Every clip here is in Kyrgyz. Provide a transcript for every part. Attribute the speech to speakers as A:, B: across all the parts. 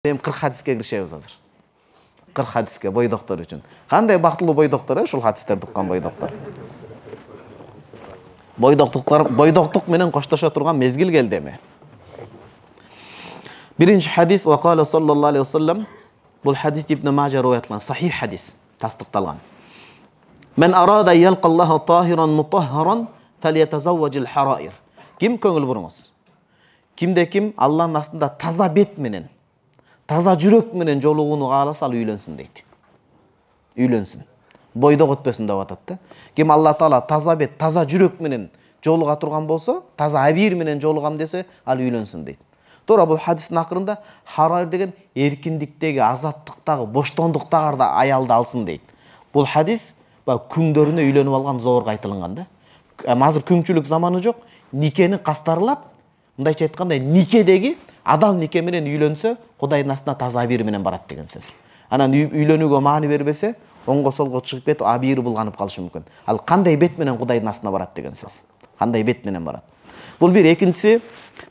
A: Эми 40 хадиске киришебиз азыр. 40 хадиске бойдоктор үчүн. Кандай бактылуу бойдоктор ушул хадистерди уккан бойдоктор. Бойдоктук менен коштошо турган мезгил келди эми. Биринчи хадис вакала саллаллаху алейхи вассалам. Бул хадис Ибн Мажа риваят кылган сахих хадис, тастыкталган. Мен арада ялкаллаху тахиран мутаххаран фалятазавважил хараир. Ким көңүл буруңуз? Кимде ким Аллахтын астында таза бет менен, таза жүрөк менен жолугууну кааласа ал үйлөнсүн дейт. Үйлөнсүн. Бойдок өтпөсүн деп атат да. Ким Алла Таала таза бет, таза жүрөк менен жолуга турган болсо, таза абийир менен жолугам десе, ал үйлөнсүн дейт. Туура бул хадистин акырында хараир деген эркиндиктеги, азаттыктагы, боштондуктагы аялды алсын дейт. Бул хадис күңдөрүнө үйлөнүп алган зорго айтылган да. Азыр күңчүлүк заманы жок, никени кастарлап, мындайча айтканда никедеги адал нике менен үйлөнсө, Кудайдын астына таза абийир менен барат деген сөз. Анан үйлөнүүгө маани бербесе, оңго солго чыгып кетип, абийири булганып калышы мүмкүн. Ал кандай бет менен Кудайдын астына барат деген сөз. Кандай бет менен барат. Бул бир, экинчиси,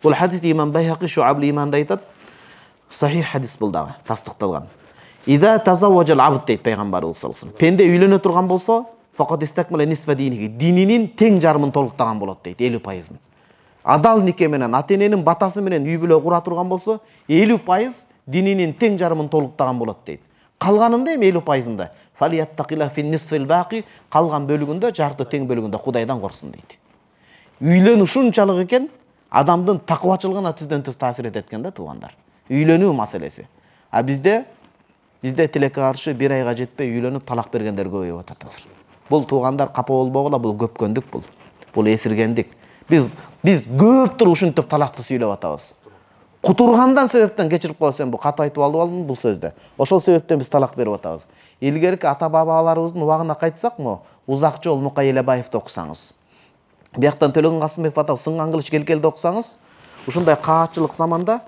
A: бул хадис Имам Байхақи Шуабл иманда айтат. Сахих хадис бул дагы, тастыкталган. Ида тазавважал абд дейт пайгамбарыбыз саллаллаху алейхи вассалам. Пенде үйлөнө турган болсо, факат истакмала нисфа динихи. Дининин тең жарымын толуктаган болот дейт, 50%. Адал нике менен, ата-эненин батасы менен үй бүлө кура турган болсо, 50% дининин тең жарымын толуктаган болот дейт. Калганында эми 50%-ында фалияттакила фин нисфил бaqi, калган бөлүгүндө, жарты тең бөлүгүндө Кудайдан корксун дейт. Үйлөнүү ушунчалык экен, адамдын такыбачылыгына түздөн-түз таасир этет экен да туугандар. Үйлөнүү маселеси. А бизде тилекке каршы 1 айга жетпей үйлөнүп талак бергендер көбөйүп атат азыр. Бул туугандар капа болбогула, бул көпкөндүк бул. Бул эсиргендик. Биз көптүр ушинтип талакты сүйлөп атабыз. Кутургандан себептен кечирип коесем, бул катуу айтып алдым бул сөздө. Ошол себептен биз талак берип атабыз. Илгерки ата-бабаларыбыздын убагына кайтсакмы, узак жол Мукай Элебаевди окусаңыз, бияктан Төлөгөн Касымбеков атап сынган кылыч келкелди окусаңыз, ушундай каатчылык заманда,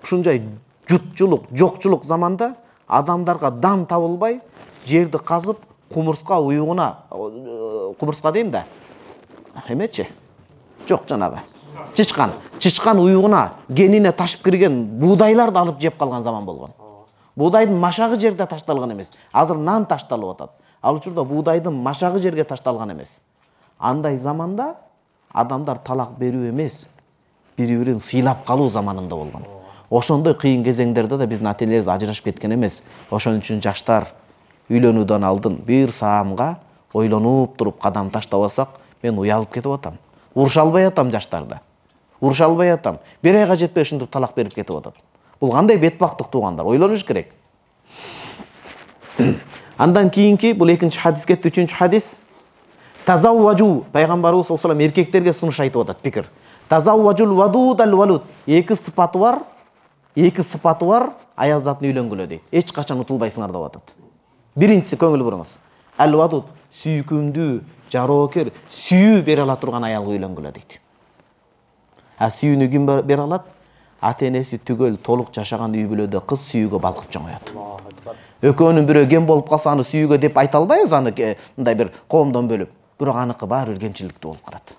A: ушундай жутчулук, жокчулук заманда адамдарга дан табылбай, жерди казып, кумурска уюгуна, кумурска дейм да. Эмечи? Жок жанагы. Чычкан уюгуна, генине ташып кирген буудайларды алып жеп калган заман болгон. Буудайдын машагы жерде ташталган эмес. Азыр нан ташталып атат. Ал учурда буудайдын машагы жерге ташталган эмес. Андай заманда адамдар талак берүү эмес, бири-бирин сыйлап калуу заманында болгон. Ошондой кыйын кезеңдерде да биздин ата-энелерибиз ажырашып кеткен эмес. Ошон үчүн жаштар үйлөнүүдөн алдын бир саамга ойлонуп туруп кадам таштабасак, мен уялып кетип атам. Уруша албай атам жаштарда. Уруша албай атам. 1 айга жетпей ушинтип талак берип кетип атат. Бул кандай бетбактык туугандар, ойлонуш керек. Андан кийинки бул экинчи хадис кетти, үчүнчү хадис. Тазавважу, пайгамбарыбыз саллаллаху алейхи вассалам эркектерге сунуш айтып атат, пикир. Тазавважул вадуд ал валуд. Эки сыпаты бар аял затын үйлөнгүлө дейт. Эч качан утулбайсыңар деп атат. Биринчиси көңүл буруңуз. Ал вадуд, сүйкүмдүү, жароокер, сүйүү бере ала турган аялга үйлөнгүлө дейт. А сүйүүнү ким бере алат? Ата-энеси түгөл толук жашаган үй бүлөдө кыз сүйүүгө балкып чоңоёт. Экөөнүн бирөө кем болуп калса, аны сүйүүгө деп айта албайбыз, аны мындай бир коомдон бөлүп. Бирок аныкы баары бир кемчиликтүү болуп калат.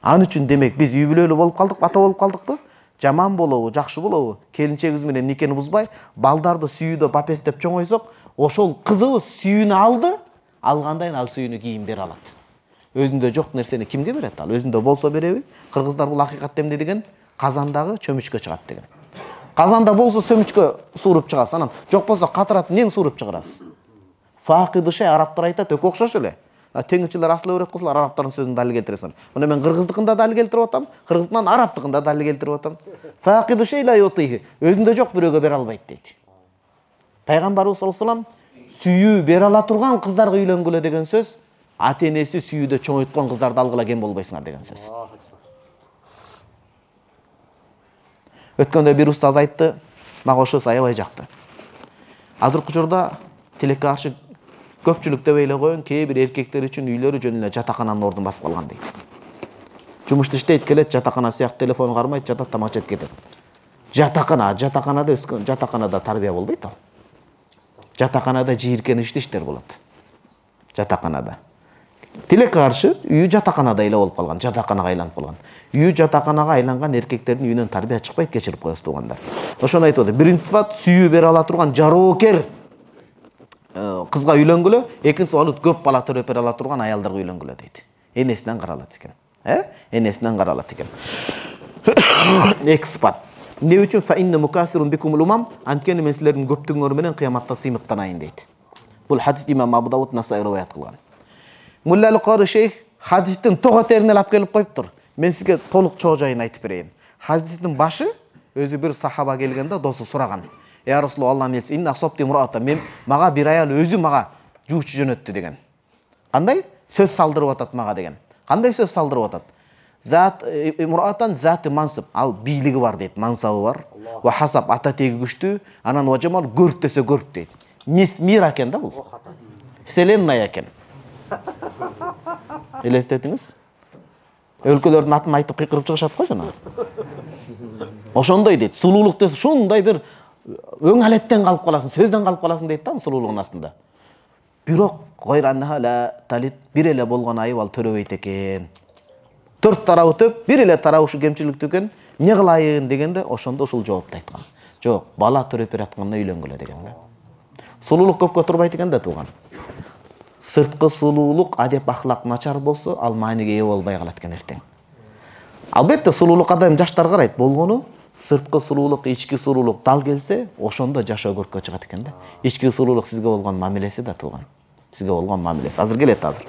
A: Аны үчүн демек биз үй бүлөлүү болуп калдык, ата болуп калдыкпы? Жаман болобу, жакшы болобу? Келинчегибиз менен никени бузбай, балдарды сүйүүдө бапестеп чоңойсок, ошол кызыбыз сүйүүнү алды, алгандан ал сүйүүнү кийин бере алат. Өзүндө жок нерсени кимге берет ал? Өзүндө болсо береби? Кыргыздар бул акыйкат эмне деген? Казандагы чөмүчкө чыгат деген. Казанда болсо сөмүчкө сууруп чыгасыз, анан жок болсо катырат нен сууруп чыгарасыз. Факиды шей арабтар айтат, өкө окшош эле. Теңирчилер асыл өрөт кылсалар, арабтардын сөзүн далил келтиресиң. Мына мен кыргыздыкында далил келтирип атам, кыргыздыкынан арабтыкында далил келтирип атам. Факиды шей ла ютихи. Өзүндө жок бирөөгө бере албайт дейт. Пайгамбарыбыз саллаллаху алейхи вассалам сүйүү бере ала турган кыздарга үйлөнгүлө деген сөз, ата-энеси сүйүүдө чоңойткон кыздарды алгыла кем болбойсуңар деген сөз. Өткөндө бир устаз айтты, мага ошо аябай жакты. Азыркы учурда тилекке каршы көпчүлүк деп эле коеюн, кээ бир эркектер үчүн үйлөрү жөн эле жатакананын ордун басып калган дейт. Жумушта иштейт, келет, жатакана сыяктуу телефон кармайт, жатат, тамак жеп кетет. Жатаканада өскөн, жатаканада тарбия болбойт ал. Жатаканада жийиркеничти иштер болот. Жатаканада. Тилекке каршы үйү жатаканада эле болуп калган, жатаканага айланып калган. Үйү жатаканага айланган эркектердин үйүнөн тарбия чыкпайт, кечирип коесуз туугандар. Ошону айтып атат. Биринчи сыфат сүйүү бере ала турган жароокер кызга үйлөнгүлө, экинчи сыфат көп бала төрөп бере ала турган аялдарга үйлөнгүлө дейт. Энесинен каралат экен. Энесинен каралат экен. Эки сыфат. Эмне үчүн фа инна мукасирун бикумул умам, анткени мен силердин көптүгүңөр менен кыяматта сыймыктанайын дейт. Бул хадис имам Абу Дауд Насаи риваят кылган. Муллал Кори шейх хадистин тога терин алып келип коюптур. Мен сизге толук чоо жайын айтып берейин. Хадистин башы өзү бир сахаба келгенде досу сураган. Я Расулуллах, Аллахтын элчиси, инна асабти мурата, мен мага бир аял өзү мага жуучу жөнөттү деген. Кандай сөз салдырып атат мага деген. Кандай сөз салдырып атат? Зат муратан заты мансып, ал бийлиги бар дейт, мансабы бар. Ва хасаб ата теги күчтүү, анан важамал көрк десе көрк дейт. Мир экен да бул. Вселенная экен. Элестетиңиз? Өлкөлөрдүн атын айтып кыйкырып чыгышат го жана. Ошондой дейт. Сулуулук десе ушундай бир өң алеттен калып каласың, сөздөн калып каласың дейт да сулуулугун астында. Бирок гойраннаха ла талит, бир эле болгон айып ал төрөбөйт экен. Төрт тарабы төп, бир эле тарабы ушу кемчиликтүү экен. Эмне кылайын дегенде ошондо ушул жоопту айткан. Жок, бала төрөп бератканда үйлөнгүлө деген да. Сулуулук көпкө турбайт экен да тууган. Сырткы сулуулук, адеп ахлак начар болсо, ал мааниге ээ болбой калат экен эртең. Албетте сулуулукка да жаштар карайт. Болгону сырткы сулуулук, ички сулуулук дал келсе, ошондо жашоо көрккө чыгат экен да. Ички сулуулук сизге болгон мамилеси да тууган. Сизге болгон мамилеси. Азыр келет азыр.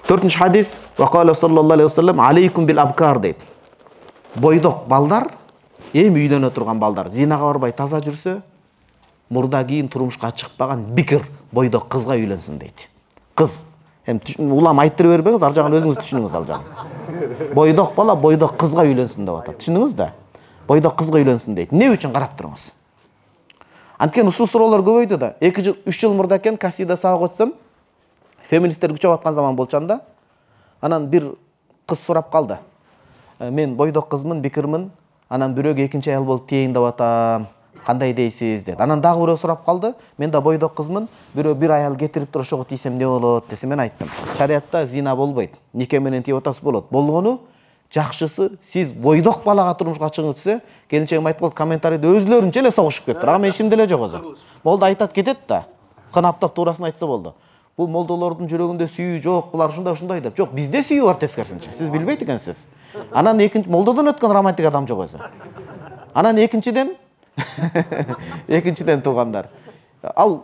A: 4-нчы хадис, ва кала саллаллаху алейхи вассалам, алейкум бил абкар дейт. Бойдок балдар, эми үйлөнө турган балдар, зинага барбай таза жүрсө, мурда кийин турмушка чыкпаган бикир бойдок кызга үйлөнсүн дейт. Кыз. Улам айттырып бербеңиз, ар жагын өзүңүз түшүнүңүз ал жагын. Бойдок бала бойдок кызга үйлөнсүн деп атат. Түшүндүңүз да? Бойдок кызга үйлөнсүн дейт. Эмне үчүн карап туруңуз? Анткени ушул суроолор көбөйдү да. 2-3 жыл мурда экен Касида сабак өтсөм, феминисттер күчөп аткан заман болчанда, анан бир кыз сурап калды. Мен бойдок кызмын, бикирмин, анан бирөөгө экинчи аял болуп тиейин деп атам. Кандай дейсиз dedi. Анан дагы бирөө сурап калды. Мен да бойдок кызмын, бирөө бир аял кетирип туруп ошого тийсем эмне болот десе, мен айттым. Шариатта зина болбойт. Нике менен тийип атасыз болот. Болгону жакшысы сиз бойдок балага турмушка чыгыңыз десе, келинчегим айтып калды, комментарийде өзлөрүнчө эле согушуп кетти. Ага мен ишимде эле жок өзү. Молда айтат кетет да. Кынаптап туурасын айтса болду. Бул молдолордун жүрөгүндө сүйүү жок, булар ушундай деп. Жок, бизде сүйүү бар тескерисинче. Сиз билбейт экенсиз. Анан экинчи молдодон өткөн романтик адам жок өзү. Анан экинчиден туугандар. Ал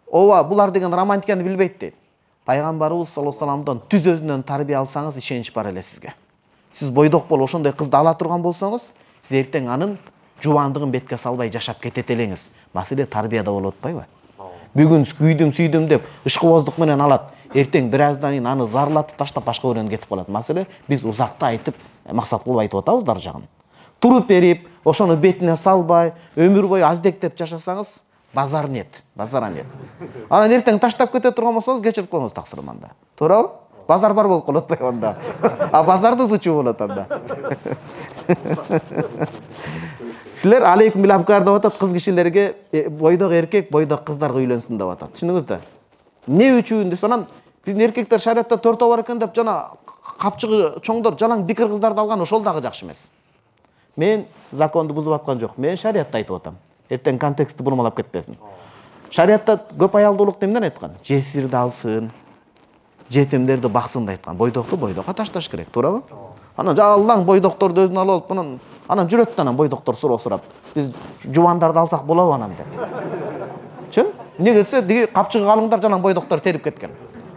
A: ооба булар деген романтиканы билбейт дейт. Пайгамбарыбыз саллаллаху алейхи вассаламдан түз өзүнөн тарбия алсаңыз ишенич бар эле сизге. Сиз бойдок болуп ошондой кызды ала турган болсоңуз, сиз эртең анын жубандыгын бетке салбай жашап кетет элеңиз. Маселе тарбияда болуп атпайбы? Бүгүн күйдүм деп ышкыбоздук менен алат. Эртең бир аздан кийин аны зарлатып таштап башка бирөөнө кетип калат. Маселе биз узакта айтып, максат кылып айтып атабыз дар жагын. Туруп берип, ошону бетине салбай, өмүр бою аздектеп жашасаңыз, базар нет, базара нет. Анан эртең таштап кете турган болсоңуз, кечирип коюңуз таксырманда. Туурабы? Базар бар болуп калат атпайбы анда? А базарды зычуу болот анда. Силер алейкум бил абкар деп атат, кыз кишилерге бойдок эркек, бойдок кыздарга үйлөнсүн деп атат. Түшүндүңүз да? Эмне үчүн десе, анан биздин эркектер шариатта 4 бар экен деп жана капчыгы чоңдор жалаң бикир кыздарды алган, ошол дагы жакшы эмес. Мен законду бузуп аткан жок. Мен шариатта айтып атам. Эртең контекстти бурмалап кетпесин. Шариатта көп аялдуулук эмнеден айткан? Жесирди алсын, жетимдерди баксын деп айткан. Бойдокту бойдокко ташташ керек, туурабы? Анан жалаң бойдокторду өзүнө алып алып, анан жүрөт да анан бойдоктор суроо сурап, биз жубандарды алсак болобу анан деп. Чын? Эмне десе, диги капчыгы калыңдар жалаң бойдоктор терип кеткен.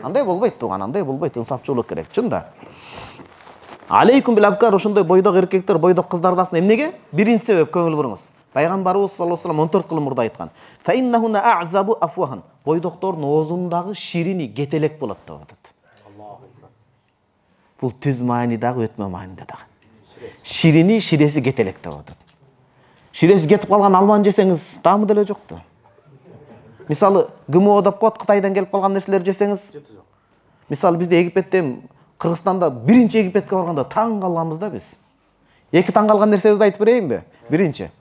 A: Андай болбойт тууган, андай болбойт, инсапчылык керек, чын да. Алейкум бил абкар, ошондой бойдок эркектер, бойдок кыздарды алсын. Эмнеге? Биринчи себеп көңүл буруңуз. Пайгамбарыбыз саллаллаху алейхи вассалам 14 кылым мурда айткан. Фа иннахуна а'забу афвахан. Бойдоктордун оозундагы ширини кетелек болот деп атат. Бул түз маанидагы өтмө мааниде дагы. Ширини, ширеси кетелек деп атат. Ширеси кетип калган алманы жесеңиз, таамы деле жок да. Мисалы, ГМО деп коет, Кытайдан келип калган нерселер жесеңиз. Мисалы, бизде Египетте, Кыргызстанда биринчи Египетке барганда таң калганбыз да биз. Эки таң калган нерсебизди айтып берейинби? Биринчи.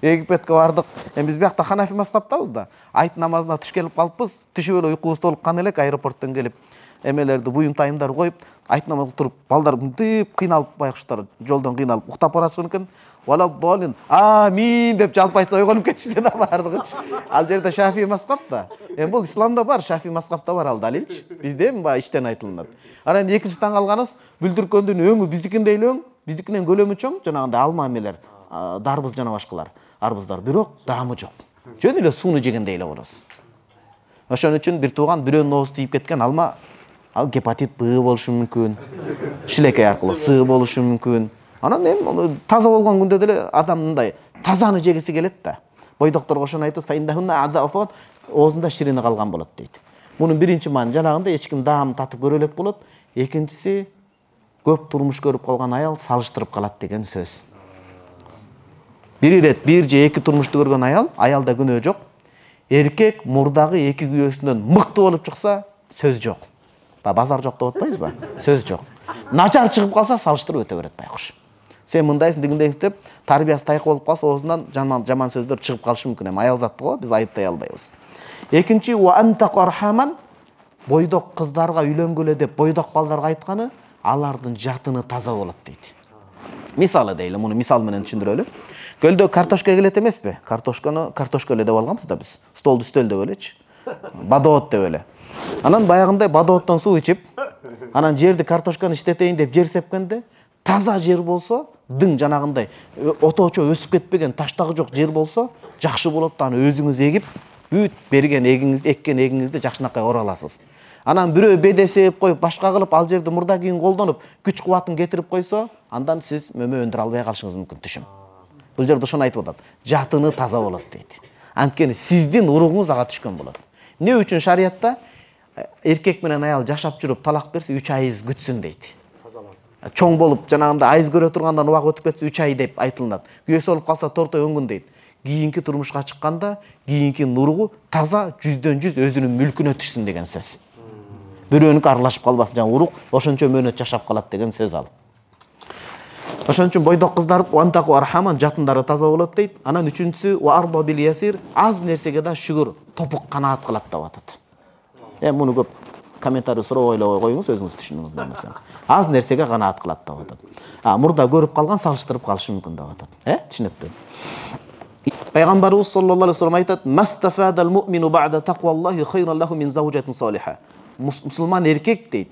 A: Египетке бардык. Эми биз биякта ханафи мазхабтабыз да. Айт намазына түш келип калыппыз. Түшүп эле уйкубуз толуп кан элек, аэропорттон келип эмелерди буюнтайымдар коюп, айтнамай туруп, балдар мынтип кыйналып, байкуштар жолдон кыйналып уктап баратышкан экен. Вала долин амин деп жалпы айтса ойгонуп кетишти да бардыгычы. Ал жерде Шафии мазхаб да. Эми бул исламда бар, Шафии мазхабта бар ал далилчи. Бизде эми баягы иштен айтылынат. Анан экинчи таң калганыбыз бүлдүркөндүн өңү биздикиндей эле өң, биздикинен көлөмү чоң, жанагындай алма эмелер, дарбыз жана башкалар, арбуздар, бирок даамы жок. Жөн эле сууну жегендей эле болосуз. Ошон үчүн бир тууган бирөөнүн оозу тийип кеткен алма, ал гепатит Б болушу мүмкүн, шилекей аркылуу С болушу мүмкүн. Анан эми таза болгон күндө деле адам мындай тазаны жегиси келет да. Бойдокторго ошону айтып, оозунда ширине калган болот дейт. Мунун биринчи маани жанагындай эч ким даам татып көрө элек болот. Экинчиси көп турмуш көрүп калган аял салыштырып калат деген сөз. Бир ирет бир же эки турмушту көргөн аялда күнөө жок. Эркек мурдагы эки күйөөсүнөн мыкты болуп чыкса, сөз жок. Базар жок деп атпайбызбы? Сөз жок. Начар чыгып калса, салыштырып өтө берет байкуш. Сен мындайсың, дегендейсиң деп, тарбиясы тайкы болуп калса, оозунан жаман сөздөр чыгып калышы мүмкүн. Эми аял затты го биз айыптай албайбыз. Экинчи ва антак архаман, бойдок кыздарга үйлөнгөлө деп бойдок балдарга айтканы, алардын жатыны таза болот дейт. Мисалы дейли, муну мисал менен түшүндүрөлү. Көлдө картошка келет эмеспи? Картошканы картошка эле деп алганбыз да биз. Столду үстөл деп элечи. Бадоот деп эле. Анан баягындай бадооттон суу ичип, анан жерди картошканы иштетейин деп жер сепкенде, таза жер болсо, дың жанагындай отоочо өсүп кетпеген, таштагы жок жер болсо, жакшы болот да аны өзүңүз эгип, бүт берген эгиңизди, эккен эгиңизди жакшынакай ора аласыз. Анан бирөө бедесеп коюп, башка кылып, ал жерди мурда кийин колдонуп, күч кубатын кетирип койсо, андан сиз мөмө өндүрө албай калышыңыз мүмкүн түшүм. Бул жерде ошону айтып атат. Жатыны таза болот дейт. Анткени сиздин уругуңуз ага түшкөн болот. Эмне үчүн шариятта эркек менен аял жашап жүрүп талак берсе 3 айыз күтсүн дейт. Чоң болуп, жанагында айыз көрө тургандан убак өтүп кетсе 3 ай деп айтылат. Күйөөсү болуп калса тортой өңгүн дейт. Кийинки турмушка чыкканда, кийинки уругу таза 100% өзүнүн мүлкүнө түшсүн деген сөз. Бирөөнүкү аралашып калбасын, жана урук ошончо мөөнөт жашап калат деген сөз ал. Ошон үчүн бойдок кыздар уантаку архаман жатындары таза болот дейт. Анан үчүнчүсү ва арба бил ясир, аз нерсеге да шүгүр, топук канаат кылат деп атат. Муну көп комментарий суроо ойлой коюңуз, өзүңүз түшүнүңүз болмосо. Аз нерсеге канаат кылат деп атат. Мурда көрүп калган салыштырып калышы мүмкүн деп атат. Түшүнүктүү. Пайгамбарыбыз саллаллаху алейхи вассалам айтат: "Мастафадал му'мину бa'да тaqваллахи хайран лаху мин заужатин салиха." Мусулман эркек дейт,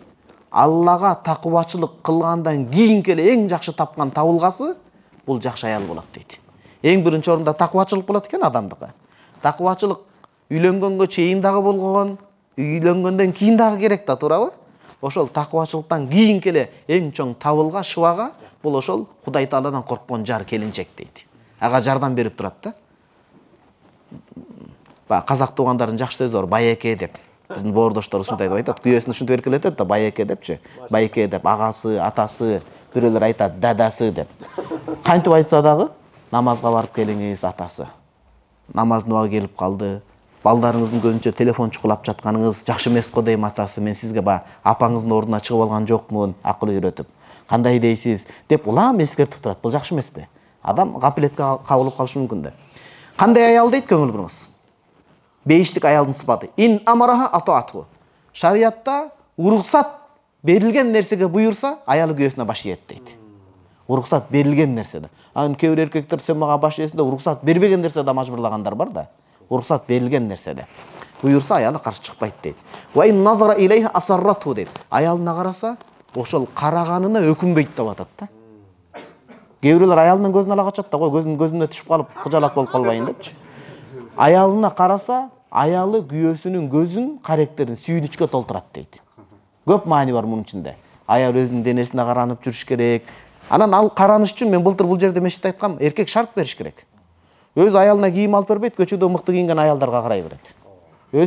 A: Аллага такыбачылык кылгандан кийинки эле эң жакшы тапкан табылгасы бул жакшы аял болот дейт. Эң биринчи орунда такыбачылык болот экен адамдыкы. Такыбачылык үйлөнгөнгө чейин дагы болгон, үйлөнгөндөн кийин дагы керек да, туурабы? Ошол такыбачылыктан кийинки эле эң чоң табылга, шыбага бул ошол Кудай Тааладан корккон жар, келинчек дейт. Ага жардам берип турат да. Казак туугандардын жакшы сөзү бар, байеке деп. Биздин боордоштор ушундай деп айтат, күйөөсүн ушинтип эркелетет да, байеке депчи. Байеке деп агасы, атасы, бирөөлөр айтат дадасы деп. Кантип айтса дагы намазга барып келиңиз атасы. Намаздын убагы келип калды. Балдарыңыздын көзүнчө телефон чукулап жатканыңыз жакшы эмес го дейм атасы. Мен сизге апаңыздын ордуна чыгып алган жокмун, акыл үйрөтүп. Кандай дейсиз деп улам эскертип турат. Бул жакшы эмеспи? Адам гапилетке кабылып калышы мүмкүн да. Кандай аял дейт, көңүл буруңуз. Бейиштик аялдын сыпаты. Ин амараха атаату. Шариятта уруксат берилген нерсеге буйурса, аялы күйөөсүнө баш ийет дейт. Уруксат берилген нерседе. Анын кээ бир эркектер сен мага баш ийесиң деп уруксат бербеген нерседе мажбурлагандар бар да. Уруксат берилген нерседе буйурса, аялы каршы чыкпайт дейт. Ва ин назара илейха асаррату дейт. Аялына караса, ошол караганына өкүнбөйт деп атат да. Кээ бирлер аялынын көзүн ала качат да, көзүнө түшүп калып, кыжалак болуп калбайын депчи. Аялына караса, аялы күйөөсүнүн көзүн, каректерин сүйүнүчкө толтурат дейт. Көп маани бар мунун ичинде. Аял өзүнүн денесине каранып жүрүш керек. Анан ал караныш үчүн мен былтыр бул жерде мешитте айткам, эркек шарт бериш керек. Өз аялына кийим алып бербейт, көчөдө мыкты кийинген аялдарга карай берет.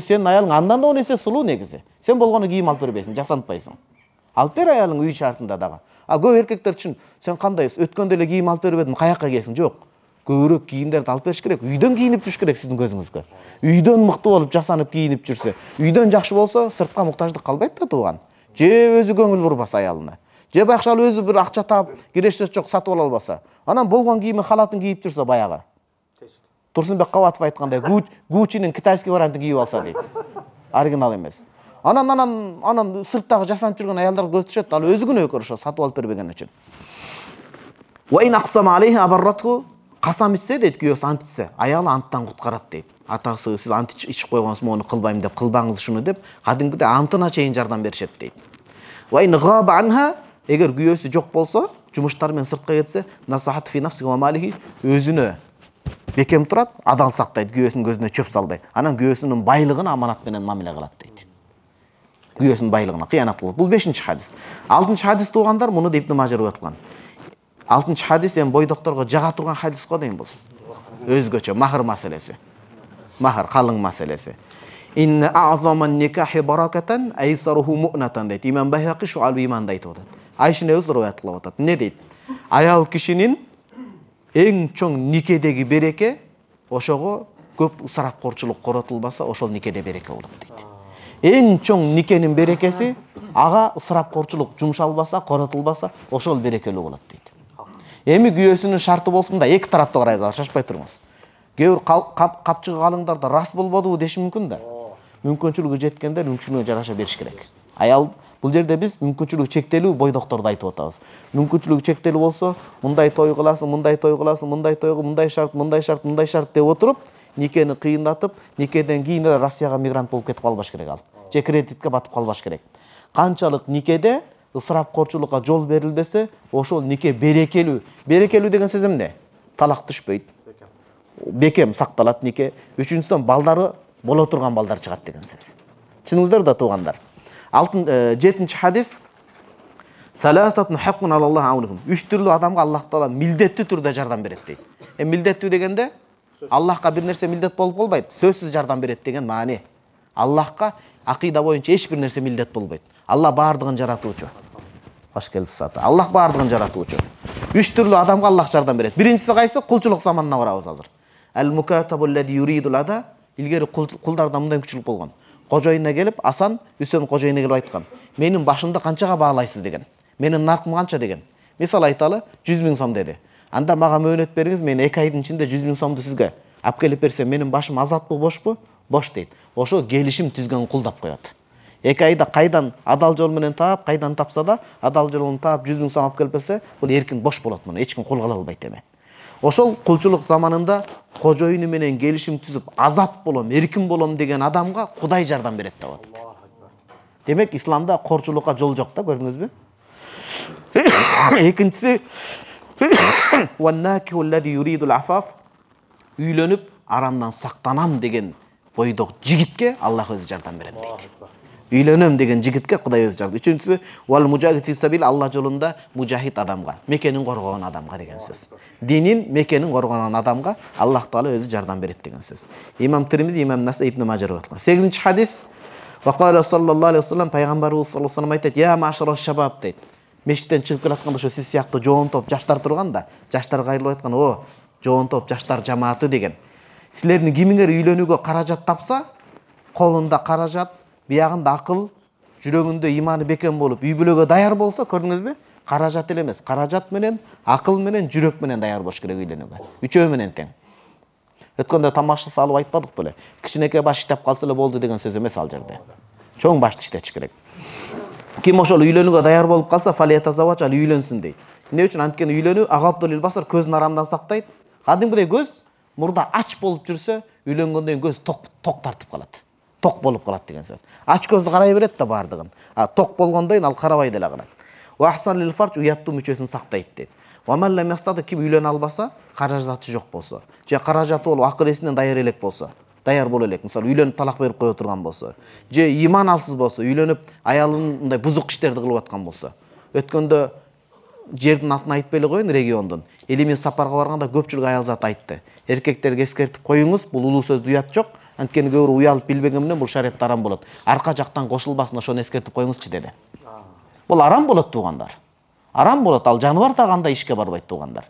A: Сенин аялың андан да 10 эсе сулуу негизи. Сен болгону кийим алып бербейсиң, жасантпайсың. Алып бер аялың үй шартында дагы. Көп эркектер үчүн сен кандайсың? Өткөндө эле кийим алып бербедим, каяка кийесиң? Жок. Көбүрөөк кийимдерди алып бериш керек. Үйдөн кийинип жүрүш керек сиздин көзүңүзгө. Үйдөн мыкты болуп, жасанып кийинип жүрсө, үйдөн жакшы болсо, сыртка муктаждык калбайт да тууган. Же өзү көңүл бурбаса аялына. Же байкуш ал өзү бир акча таап, кирешеси жок сатып ала албаса. Анан болгон кийими халатын кийип жүрсө баягы. Турсунбек Кабатов айткандай, Гуччинин китайский вариантын кийип алса дейт. Оригинал эмес. Анан сырттагы жасанып жүргөн аялдар көз түшөт, ал өзү күнөөкөр ошо сатып алып бербеген үчүн. Ва ин aqsama alayhi abarrathu, касам ичсе дейт, күйөөсү ант ичсе, аялы анттан куткарат дейт. Атасы сиз ант ичип койгонсуз, мону кылбайм деп, кылбаңыз шуну деп, кадимкидей антына чейин жардам беришет дейт. Ва ин ghaba anha, эгер күйөөсү жок болсо, жумуштар менен сыртка кетсе, насахат фи нафсиhi ва малихи, өзүнө бекем турат, адал сактайт, күйөөсүнүн көзүнө чөп салбайт. Анан күйөөсүнүн байлыгын аманат менен мамиле кылат дейт. Күйөөсүнүн байлыгына кыянат кылат. Бул 5-чи хадис. 6-чы хадис туугандар, муну да Ибн Мажа риwayat кылган. 6-чы хадис эми бойдокторго жага турган хадис го дейм бул. Өзгөчө махр маселеси. Махр калың маселеси. Инна a'zaman nikahi barakatan aysaruhu mu'natan дейт. Имам Байхақи Шуалб иманда айтып атат. Айшаны өзү риwayat кылып атат. Эмне дейт? Аял кишинин эң чоң никедеги береке ошого көп ысырапкорчулук коротулбаса, ошол никеде береке болот дейт. Эң чоң никенин берекеси ага ысырапкорчулук жумшалбаса, коротулбаса, ошол берекелүү болот дейт. Эми күйөөсүнүн шарты болсун да, эки тараптуу карайсыздар, шашпай туруңуз. Кээ бир капчыгы калыңдарда рас болбодубу деши мүмкүн да. Мүмкүнчүлүгү жеткендер мүмкүнчүлүгүнө жараша бериш керек. Аял бул жерде биз мүмкүнчүлүгү чектелүү бойдокторду айтып атабыз. Мүмкүнчүлүгү чектелүү болсо, мындай той кыласың, мындай той кыласың, мындай тойго мындай шарт, мындай шарт, мындай шарт деп отуруп, никени кыйындатып, никеден кийин эле Россияга мигрант болуп кетип калбаш керек ал. Же кредитке батып калбаш керек. Канчалык никеде ысырапкорчулукка жол берилбесе, ошол нике берекелүү. Берекелүү деген сөз эмне? Талак түшпөйт. Бекем сакталат нике. Үчүнчүсү балдары боло турган балдар чыгат деген сөз. Чыныңыздар да туугандар. 7-чи хадис. Саласатун хаккун алаллах аунухум. 3 түрлүү адамга Аллах Таала милдеттүү түрдө жардам берет дейт. Милдеттүү дегенде Аллахка бир нерсе милдет болуп болбойт, сөзсүз жардам берет деген маани. Аллахка акыйда боюнча эч бир нерсе милдет болбойт. Алла баардыгын жаратуучу. Баш келип саты. Аллах баардыгын жаратуучу. 3 түрлүү адамга Аллах жардам берет. Биринчиси кайсы? Кулчулук заманына барабыз азыр. Ал-мукатабу аллади юридул ада. Илгери кулдарда мындай мүмкүнчүлүк болгон. Кожоюна келип, Асан Үсөн кожоюна келип айткан. Менин башымды канчага баалайсыз деген. Менин наркым канча деген. Мисал айталы, 100 000 сом деди. Анда мага мөөнөт бериңиз, мен 2 айдын ичинде 100 000 сомду сизге алып келип берсем, менин башым азатпы, бошпу? Бош дейт. Ошо келишим түзгөн кулдап коет. 2 айда кайдан адал жол менен таап, кайдан тапса да, адал жолун таап 100 000 сом алып келип берсе, бул эркин бош болот муну. Эч ким кол кыла албайт эми. Ошол кулчулук заманында кожоюну менен келишим түзүп, азат болом, эркин болом деген адамга Кудай жардам берет деп атат. Демек, исламда корчулукка жол жок да, көрдүңүзбү? Экинчиси ваннакиху аллади юридул афаф, үйлөнүп арамдан сактанам деген бойдок жигитке Аллах өзү жардам берем дейт. Үйлөнөм деген жигитке Кудай өзү жардам. Үчүнчүсү вал мужахид фи сабил, Алла жолунда мужахид адамга, мекенин коргогон адамга деген сөз. Динин, мекенин коргогон адамга Аллах Таала өзү жардам берет деген сөз. Имам Тирмизи, Имам Насаи, Ибн Мажа риwayat кылган. 8-чи хадис. Ва кала саллаллаху алейхи вассалам, пайгамбарыбыз саллаллаху алейхи вассалам айтат: "Я машараш шабаб" дейт. Мешіттен чыгып келатканда ошо сиз сыяктуу жоон топ жаштар турган да, жаштар кайрылып айткан: "О, жоон топ жаштар жамааты" деген. Силердин кимиңер үйлөнүүгө каражат тапса, колунда каражат, биягында акыл, жүрөгүндө иманы бекем болуп, үй бүлөгө даяр болсо, көрдүңүзбү? Каражат эле эмес, каражат менен, акыл менен, жүрөк менен даяр болуш керек үйлөнүүгө. Үчөө менен тең. Өткөндө тамаша салып айтпадык беле? Кичинекей баш иштеп калса эле болду деген сөз эмес ал жерде. Чоң башты иштетиш керек. Ким ошол үйлөнүүгө даяр болуп калса, фалиятазавач, ал үйлөнсүн дейт. Эмне үчүн? Анткени үйлөнүү агаттулил басар, көздүн арамдан сактайт. Кадимкидей көз мурда ач болуп жүрсө, үйлөнгөндөн кийин көз ток тартып калат. Ток болуп калат деген сөз. Ач көздү карай берет да баардыгын. Ток болгондон кийин ал карабай деле калат. Ва ахсан лил фарж, уяттуу мүчөсүн сактайт дейт. Ва ман лам ястады, ким үйлөнө албаса, каражаты жок болсо, же каражаты болуп акыл эсинен даяр элек болсо, даяр боло элек. Мисалы, үйлөнүп талак берип кое турган болсо, же иман алсыз болсо, үйлөнүп аялын мындай бузук иштерди кылып аткан болсо. Өткөндө жердин атын айтпай эле коеюн, региондун. Элимен сапарга барганда көпчүлүк аял зат айтты. Эркектерге эскертип коюңуз, бул улуу сөздү уят жок. Анткени көбүрө уялып билбеген менен бул шариатта арам болот. Арка жактан кошулбасын, ошону эскертип коюңузчу деди. Бул арам болот туугандар. Арам болот, ал жаныбар да кандай ишке барбайт туугандар.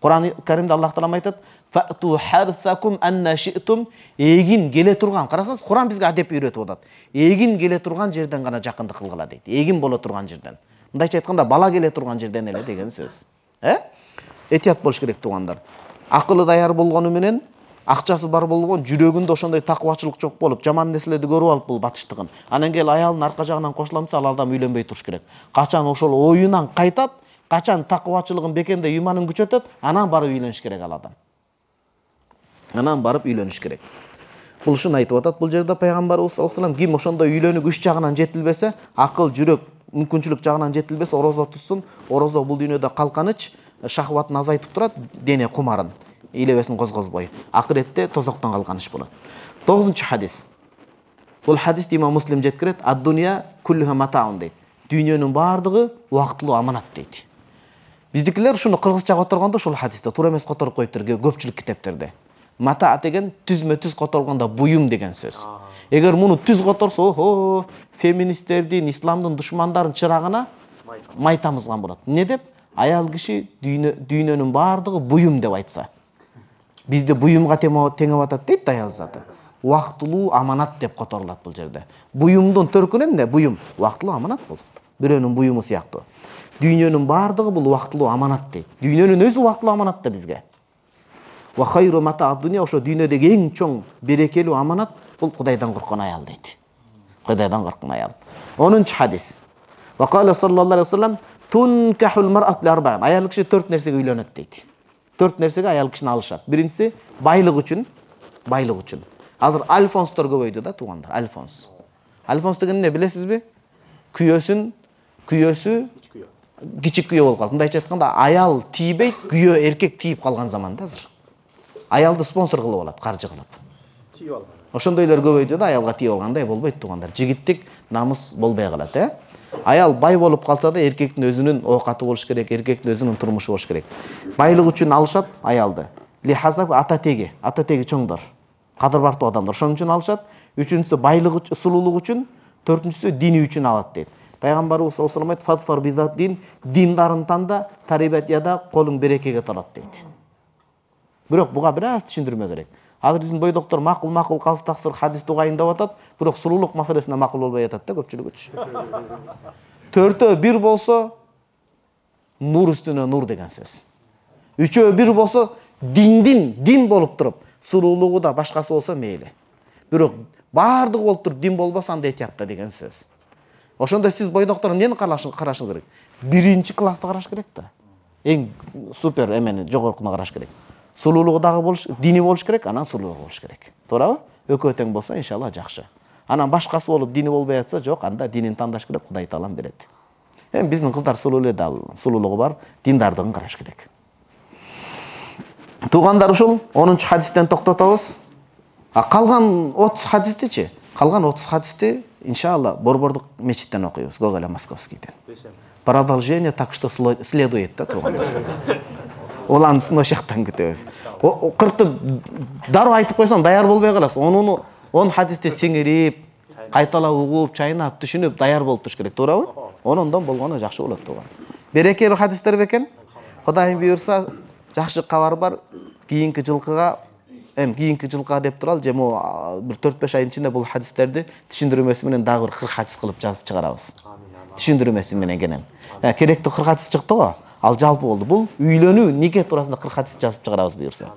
A: Кур'ан Каримде Аллах Таала айтат: "Фату харсакум анна ши'тум", эгин келе турган. Карасаңыз, Кур'ан бизге адеп үйрөтүп атат. Эгин келе турган жерден гана жакындык кылгыла дейт. Эгин боло турган жерден. Мындайча айтканда, бала келе турган жерден эле деген сөз. Этият болуш керек туугандар. Акылы даяр болгону менен акчасы бар болгон, жүрөгүндө ошондой такыбачылык жок болуп, жаман нерселерди көрүп алып бул батыштыгын. Анан келип аялдын арка жагынан кошуламса, ал адам үйлөнбөй туруш керек. Качан ошол оюнан кайтат, качан такыбачылыгын бекемдей, ыйманын күчөтөт, анан барып үйлөнүш керек ал адам. Анан барып үйлөнүш керек. Бул ушуну айтып атат бул жерде пайгамбарыбыз саллаллаху алейхи вассалам. Ким ошондой үйлөнүк үч жагынан жетилбесе, акыл, жүрөк, мүмкүнчүлүк жагынан жетилбесе, орозо тутсун. Орозо бул дүйнөдө калканыч, шахватын азайтып турат, дене кумарын, илебесин козгозбой. Акыретте тозоктон калканыч болот. 9-чу хадис. Бул хадисти имам Муслим жеткирет. Ад-дуnya kulluha mata'un дейт. Дүйнөнүн баардыгы убактылуу аманат дейт. Биздикилер ушуну кыргызча которгондо ушул хадисте туура эмес которуп коюптур көпчүлүк китептерде. Мата деген түзмө-түз которгондо буюм деген сөз. Эгер муну түз которсо, охо, феминисттердин, исламдын душмандарын чырагына май тамызган болот. Эмне деп? Аял киши дүйнөнүн баардыгы буюм деп айтса. Бизде буюмга теңеп атат дейт аял заты. Убактылуу аманат деп которулат бул жерде. Буюмдун төркүнү эмне? Буюм. Убактылуу аманат бул. Бирөөнүн буюму сыяктуу. Дүйнөнүн баардыгы бул убактылуу аманат дейт. Дүйнөнүн өзү убактылуу аманат да бизге. Ва хайру мата'ад дуnya, ошо дүйнөдөгү эң чоң берекелүү аманат бул Кудайдан корккон аял дейт. Кудайдан корккон аял. 10-чу хадис. Ва кала саллаллаху алейхи вассалам тункахул мар'ат ли арба'ин. Аял киши 4 нерсеге үйлөнөт дейт. 4 нерсеге аял кишини алышат. Биринчиси байлык үчүн, байлык үчүн. Азыр альфонстор көбөйдү да туугандар, альфонс. Альфонс деген эмне билесизби? Күйөөсү кичик күйөө болуп калды. Мындайча айтканда, аял тийбейт, күйөө эркек тийип калган заманда азыр. Аялды спонсор кылып алат, каржы кылып. Тийип алган. Ошондойлор көбөйдү да, аялга тийип алгандай болбойт туугандар. Жигиттик намыс болбой калат, Аял бай болуп калса да, эркектин өзүнүн оокаты болуш керек, эркектин өзүнүн турмушу болуш керек. Байлык үчүн алышат аялды. Ли хасаб ата теги чоңдор. Кадыр бартуу адамдар ошон үчүн алышат. Үчүнчүсү байлык үчүн, сулуулук үчүн, төртүнчүсү дини үчүн алат дейт. Пайгамбарыбыз саллаллаху алейхи вассалам фатфар бизат диндарын танда, тарибат яда колуң берекеге толот дейт. Бирок буга бир аз түшүндүрмө керек. Азыр биздин бойдоктор макул калыс таксыр хадисти угайындап атат, бирок сулуулук маселесине макул болбой атат да көпчүлүгүчү. 4-1 болсо нур үстүнө нур деген сөз. 3-1 болсо дин болуп туруп, сулуулугу да башкасы болсо мейли. Бирок баардыгы болуп туруп дин болбосо анда этиятта деген сөз. Ошондо сиз бойдоктор эмнени карашыңыз керек? Биринчи классты караш керек да. Эң супер эмени жогоркуна караш керек. Сулуулугу дагы дини болуш керек, анан сулуулугу болуш керек. Туурабы? Экөө тең болсо, иншалла жакшы. Анан башкасы болуп дини болбой атса, жок, анда динин тандаш керек, Кудай таалам берет. Эми биздин кыздар сулуулуу да, сулуулугу бар, диндардыгын караш керек. Туугандар, ушул 10-чу хадистен токтотобуз. Калган 30 хадистичи? Калган 30 хадисти иншалла Борбордук мечиттен окуйбуз, Гоголя Московскийден. Продолжение так что следует, да, туугандар. Уланысын ошактан күтөбүз. 40 дароо айтып койсоң даяр болбой каласыз. 10 хадисти сиңирип, кайталап угуп, чайнап, түшүнүп даяр болуп туруш керек, туурабы? 10-дон болгону жакшы болот тууган. Берекелүү хадистер бекен. Кудайым буйрса, жакшы кабар бар. Кийинки жылкыга деп туралы, же бир 4-5 айдын ичинде бул хадистерди түшүндүрмөсү менен дагы бир 40 хадис кылып жазып чыгарабыз. Түшүндүрмөсү менен кенен. Керектүү 40 хадис чыкты го. Ал жалпы болду. Бул үйлөнүү, нике туурасында 40 хадис жазып чыгарабыз буйрса.